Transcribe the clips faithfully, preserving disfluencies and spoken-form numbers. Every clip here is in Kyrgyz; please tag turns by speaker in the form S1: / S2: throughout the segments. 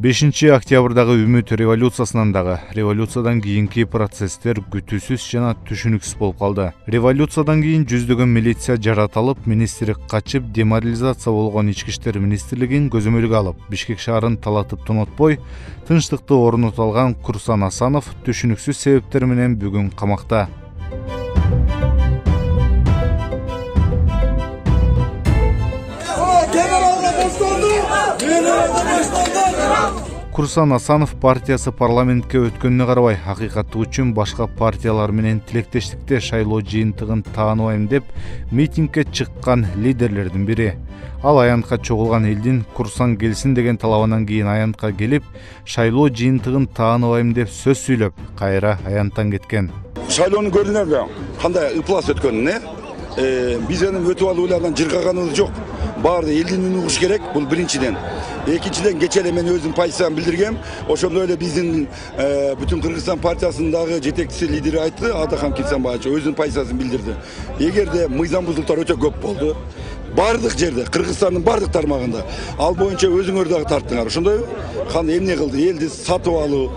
S1: бешинчи октябрдагы Үмүт революциясынан дагы революциядан кийинки процесстер күтүүсүз жана түшүнүксүз болуп калды. Революциядан кийин жүздөгөн милиция жаратылып, министрлик качып, деморализация болгон ички иштер министрлигин көзөмөлгө алып, Бишкек шаарын талатып тонотпой, тынчтыкты орното алган Курсан Асанов түшүнүксүз себептер менен бүгүн камакта. Курсан Асанов партиясы парламентке өткөнүнө карабай, акыйкаты үчүн башка партиялар менен тилектештикте шайлоо жыйынтыгын тааныбайм деп митингге чыккан лидерлердин бири. Ал аянтка чогулган элдин Курсан келсин деген талабынан кийин аянтка келип, шайлоо жыйынтыгын тааныбайм деп сөз сүйлөп, кайра аянттан кеткен.
S2: Шайлоону көрдүңөрбү? Кандай ыплас өткөнүн, э? Биз эми өтүп алуулардан жыргаганыбыз жок. Баарды элдин үнүн угуш керек, бул биринчиден. Экинчиден кече эле мен өзүм позициямды билдиргем. Ошондой эле биздин бүтүн Кыргызстан партиясындагы жетекчиси лидери айтты, Атахан Кимсанбаевич өзүнүн позициясын билдирди. Эгерде мыйзам бузулуктар өтө көп болду, бардык жерде, Кыргызстандын бардык тармагында ал боюнча өзүңөр дагы тарттыңар. Ошондойбу? Кандай эмне кылды? Элди сатып алуу,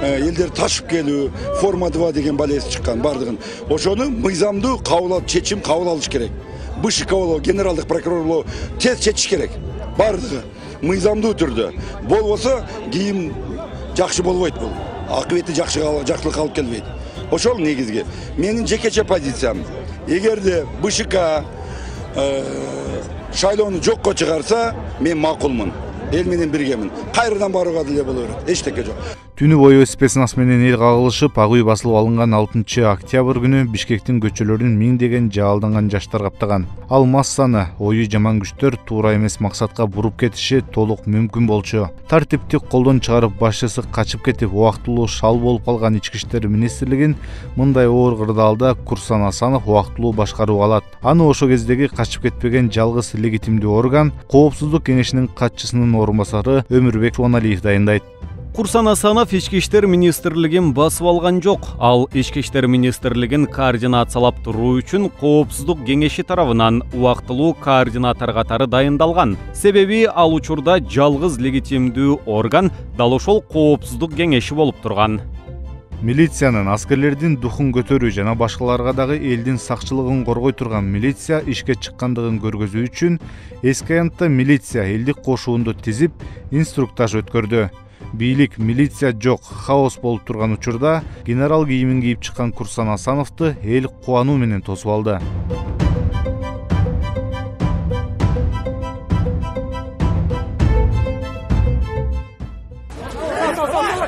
S2: элдер ташып келүү, форма два деген балеси чыккан бардыгын. Ошону мыйзамдуу кабыл алып, чечим кабыл алыш керек. БШК болобу, генералдык прокурор болобу тез чечиш керек. Бардыгы мыйзамдуу түрдө. Болбосо кийин жакшы болбойт бул. Акыбети жакшы жакшылыкка алып келбейт. Ошол негизги. Менин жекече позициям. Эгерде БШК шайлоону жокко чыгарса, мен макулмун. Эл менен биргемин. Кайрадан барууга деле боло берет. Эчтеке жок.
S1: Түнү бою спецназ менен эл кагылышып, ак үй басылып алынган алтынчы октябрь күнү Бишкектин көчөлөрүн миңдеген жаалданган жаштар каптаган. Ал массаны ою жаман күчтөр туура эмес максатка буруп кетиши толук мүмкүн болчу. Тартипти колдон чыгарып, башчысы качып кетип, убактылуу шал болуп калган ички иштер министрлигин мындай оор кырдаалда Курсан Асанов убактылуу башкарууга алат. Аны ошол кездеги качып кетпеген жалгыз легитимдүү орган Коопсуздук кеңешинин катчысынын орун басары Өмүрбек Чубаналиев дайындайт.
S3: Курсан Асанов ички иштер министрлигин басып алган жок. Ал ички иштер министрлигин координациялап туруу үчүн Коопсуздук кеңеши тарабынан убактылуу координатор катары дайындалган. Себеби ал учурда жалгыз легитимдүү орган дал ошол Коопсуздук кеңеши болуп турган.
S1: Милициянын, аскерлердин духун көтөрүү жана башкаларга дагы элдин сакчылыгын коргой турган милиция ишке чыккандыгын көргөзүү үчүн эски аянтта милиция элдик кошуунду тизип, инструктаж өткөрдү. Бийлик милиция жок, хаос болуп турган учурда генерал кийимин кийип чыккан Курсан Асановду эл кубануу менен тосуп алды.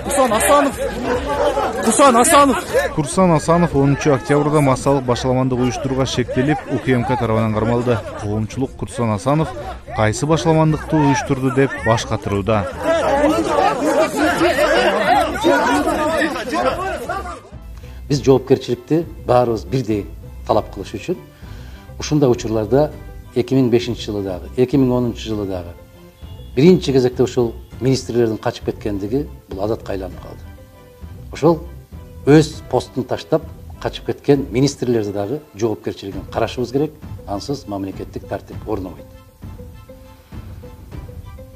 S4: Курсан Асанов Курсан Асанов
S1: Курсан Асанов онунчу октябрда массалык башаламандык уюштурууга шектелип, УКМК тарабынан кармалды. Коомчулук Курсан Асанов кайсы башаламандыкты уюштурду деп баш катырууда.
S5: Биз жоопкерчиликти баарыбыз бирдей талап кылыш үчүн ушундай учурларда эки миң бешинчи жылы дагы, эки миң онунчу жылы дагы биринчи кезекте ошол министрлердин качып кеткендиги бул адатка айланып калды. Ошол өз постун таштап качып кеткен министрлерди дагы жоопкерчилигин карашыбыз керек, ансыз мамлекеттик тартип орнобойт.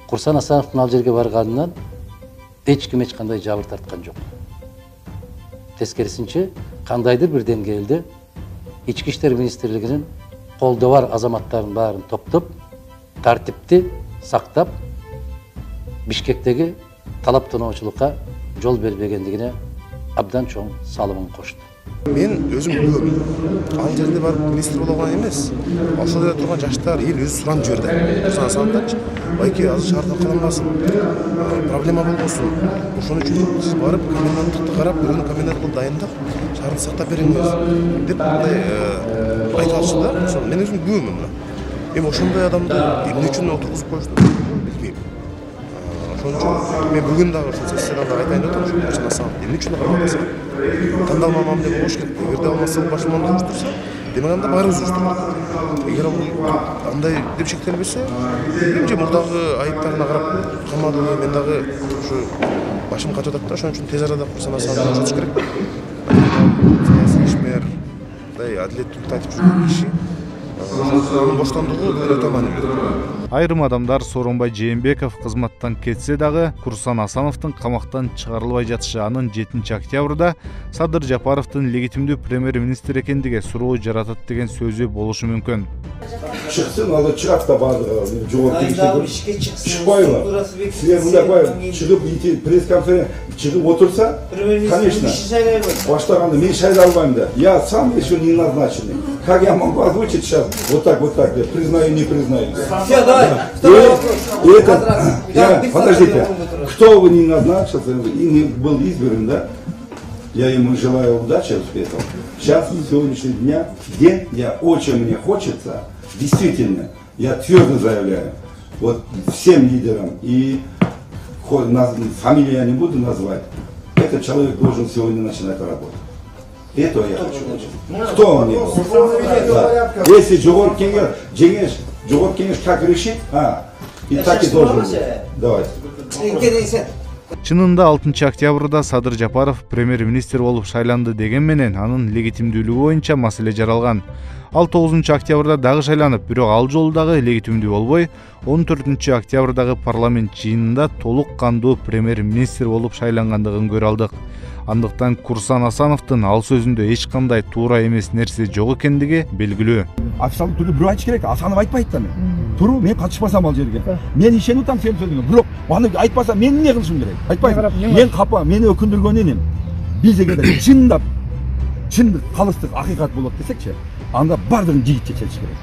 S5: Курсан Асановдун ал жерге барганынан эч ким эч кандай жабыр тарткан жок. Тескерисинче, кандайдыр бир деңгээлде ички иштер министрлигинин колдо бар азаматтардын баарын топтоп, тартипти сактап, Бишкектеги талап тоноочулукка жол бербегендигине абдан чоң салымын кошту.
S4: Мен өзүм билем. Ал жерде барып министр болгон эмес. Ошол жерде турган жаштар эл өзү суранып жиберди. Курсан Асановдончу байке азыр шаарда калынбасын, проблема болбосун. Ошон үчүн сиз барып коменданттыкты карап, бирөөнү комендант кылып дайындап, шаарды сактап бериңиз деп мындай айтып атышты да. Ошол мен өзүм күбөм мына. Эми ошондой адамды эмне үчүн отургузуп коюшту билбейм. Ошон үчүн мен бүгүн дагы ошол сессияда дагы айтайын деп атам, Курсан Асанов эмне үчүн кармалбаса? Тандалма мамиле болуш керек. Эгерде албаса башманды уюштурса, демек анда баарыбыз уюштурдук. Эгер ал андай деп шектелбесе, эми же мурдагы айыптарына карап камадыбы, мен дагы ушу башым качып атат да, ошон үчүн тез арада Курсан Асановду бошотуш керек. Саясий ишмер, мындай адилеттүүлүктү айтып жүргөн киши, анын боштондугу бул өтө маанилүү.
S1: Айрым адамдар Сооронбай Жээнбеков кызматтан кетсе дагы Курсан Асановдун камактан чыгарылбай жатышы анын жетинчи октябрда Садыр Жапаровдун легитимдүү премьер-министр экендиге суроо жаратат деген сөзү болушу мүмкүн.
S2: Чыксын, ал чыгат да баардыгы жооп беришти. Чыкпайбы? Силер мындай коюп, чыгып пресс-конференция чыгып отурса, конечно, баштаганда мен шайлай албайм да. Я сам еще не назначенный. Как я могу озвучить сейчас вот так, вот так, признаю, не признаю.
S6: Все, давай.
S2: И это, я, подождите, кто вы не назначился и не был избран, да? Я ему желаю удачи, успехов. Сейчас, на сегодняшний дня, день, я очень мне хочется, действительно, я твердо заявляю, вот всем лидерам, и фамилию я не буду назвать, этот человек должен сегодня начинать работать. Этого я хочу. Кто он не был? Да. Если Жогорку Кеңеш, Жогорку Кеңеш как решит, а, и так и должен быть. Давайте.
S1: Чынында алтынчы октябрда Садыр Жапаров премьер-министр болуп шайланды деген менен анын легитимдүүлүгү боюнча маселе жаралган. Ал тогузунчу октябрда дагы шайланып, бирок ал жолу дагы легитимдүү болбой, он төртүнчү октябрдагы парламент жыйынында толук кандуу премьер-министр болуп шайлангандыгын көрө алдык. Андыктан Курсан Асановдун ал сөзүндө эч кандай туура эмес нерсе жок экендиги белгилүү.
S7: Официалдуу түрдө бирөө айтыш керек, Асанов айтпайт да мен. Туру, мен катышпасам ал жерге. Мен ишенип атам сенин сөзүңө. Бирок аны айтпасам мен эмне кылышым керек? Айтпайм. Мен капа, мени өкүндүргөн энем. Биз эгерде чындап, чындык, калыстык, акыйкат болот десекчи, анда бардыгын жигитче чечиш керек.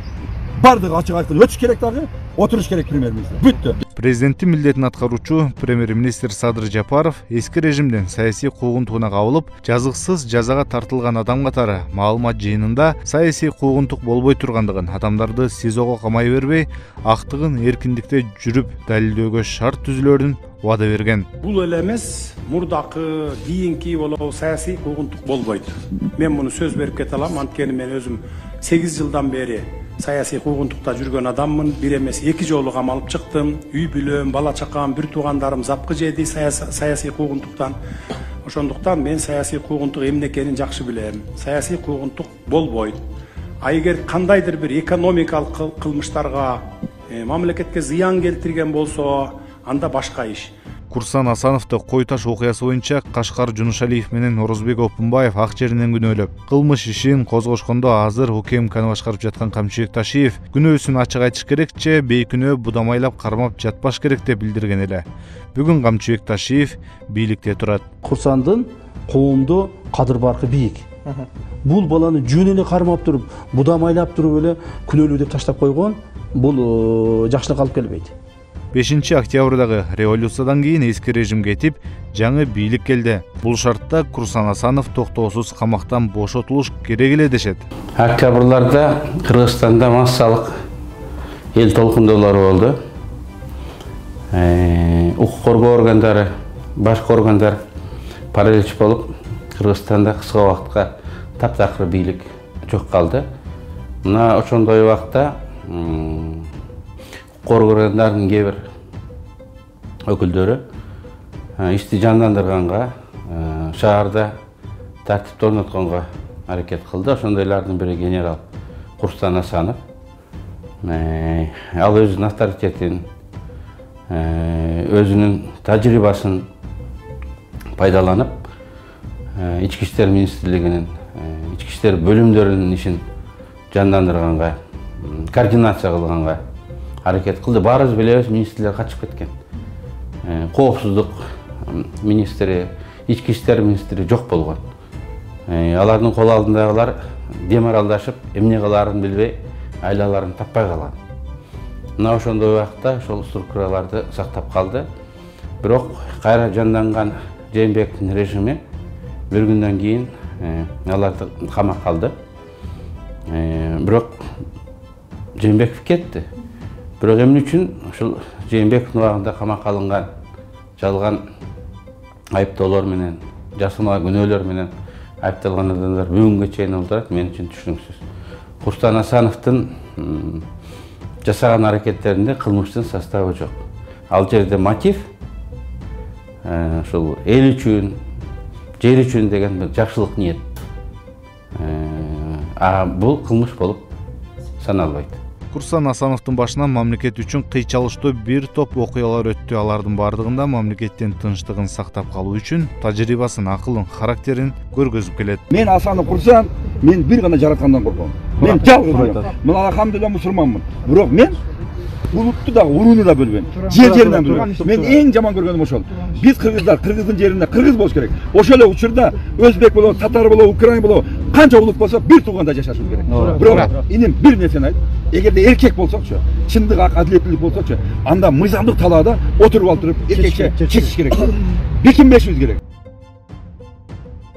S7: Бардыгы ачык айкын өтүш керек дагы, отуруш керек премьер-министр. Бүттү.
S1: Президенттин милдетин аткаруучу премьер-министр Садыр Жапаров эски режимден саясий куугунтугуна кабылып, жазыксыз жазага тартылган адам катары маалымат жыйынында саясий куугунтук болбой тургандыгын, адамдарды сизого камай бербей, актыгын эркиндикте жүрүп далилдөөгө шарт түзүлөрүн убада берген.
S8: Бул эле эмес, мурдакы, кийинки болобу саясий куугунтук болбойт. Мен муну сөз берип кете алам, анткени мен өзүм сегиз жылдан бери саясий куугунтукта жүргөн адаммын. Бир эмес эки жолу камалып чыктым. Үй бүлөм, бала чакам, бир туугандарым запкы жеди саясий куугунтуктан. Ошондуктан мен саясий куугунтук эмне экенин жакшы билем. Саясий куугунтук болбойт. А эгер кандайдыр бир экономикалык кылмыштарга, мамлекетке зыян келтирген болсо, анда башка иш.
S1: Курсан Асановду Кой Таш окуясы боюнча Кашкар Жунушалиев менен Орозбек Опунбаев ак жеринен күнөөлөп, кылмыш ишин козгошкондо азыр УКМКны башкарып жаткан Камчыбек Ташиев күнөөсүн ачык айтыш керекчи, бейкүнөө будамайлап кармап жатпаш керек деп билдирген эле. Бүгүн Камчыбек Ташиев бийликте турат.
S9: Курсандын коомдо кадыр баркы бийик. Бул баланы жөн эле кармап туруп, будамайлап туруп эле күнөөлүү деп таштап койгон, бул жакшылык алып келбейт.
S1: бешинчи октябрдагы революциядан кийин эски режим кетип, жаңы бийлик келди. Бул шартта Курсан Асанов токтоосуз камактан бошотулуш керек эле дешет.
S10: Октябрларда Кыргызстанда массалык эл толкундоолору болду. Укук коргоо органдары, башка органдар паралич болуп, Кыргызстанда кыска убакытка таптакыр бийлик жок калды. Мына ошондой убакта органдардын кээ бир өкүлдөрү ишти жандандырганга, шаарда тартипти орнотконго аракет кылды. Ошондойлордун бири генерал Курсан Асанов. Ал өзүнүн авторитетин, өзүнүн тажрыйбасын пайдаланып, ички иштер министрлигинин, ички иштер бөлүмдөрүнүн ишин жандандырганга, координация кылганга аракет кылды. Баарыбыз билебиз, министрлер качып кеткен. Коопсуздук министри, ички иштер министри жок болгон. Алардын кол алдындагылар деморалдашып, эмне кылаарын билбей, айлаларын таппай калган. Мына ошондой убакта ошол структураларды сактап калды. Бирок кайра жанданган Жээнбековдун режими бир күндөн кийин аларды камакка алды. Бирок Жээнбеков кетти. Бирок эмне үчүн ушул Жээнбековдун убагында камакка алынган жалган айыптоолор менен, жасырма күнөөлөр менен айыпталган адамдар бүгүнгө чейин олдурат, мен үчүн түшүнүксүз. Курсан Асановдун жасаган аракеттеринде кылмыштын составы жок. Ал жерде мотив ушул эл үчүн, жер үчүн деген бир жакшылык ниет. А бул кылмыш болуп саналбайт.
S1: Курсан Асановдун башынан мамлекет үчүн кыйчалыштуу бир топ окуялар өттү. Алардын бардыгында мамлекеттин тынчтыгын сактап калуу үчүн тажрыйбасын, акылын, характерин көргөзүп келет.
S7: Мен Асанов курсам, мен бир гана жараткандан корком. Мен жалгыз. Мен алхамдулилла мусулманмын. Бирок мен улутту да, урууну да бөлбөйм. Жер жеринен бөлбөйм. Мен эң жаман көргөнүм ошол. Биз кыргыздар, кыргыздын жеринде кыргыз болуш керек. Ошол эле учурда өзбек болобу, татар болобу, украин болобу, канча улут болсо бир тууганда жашашыбыз керек. Бирок иним бир нерсени айт. Эгерде эркек болсокчу, чындык, адилеттүүлүк болсокчу, анда мыйзамдык талаада отуруп алып туруп эркекче чечиш керек. Бекинбешибиз керек.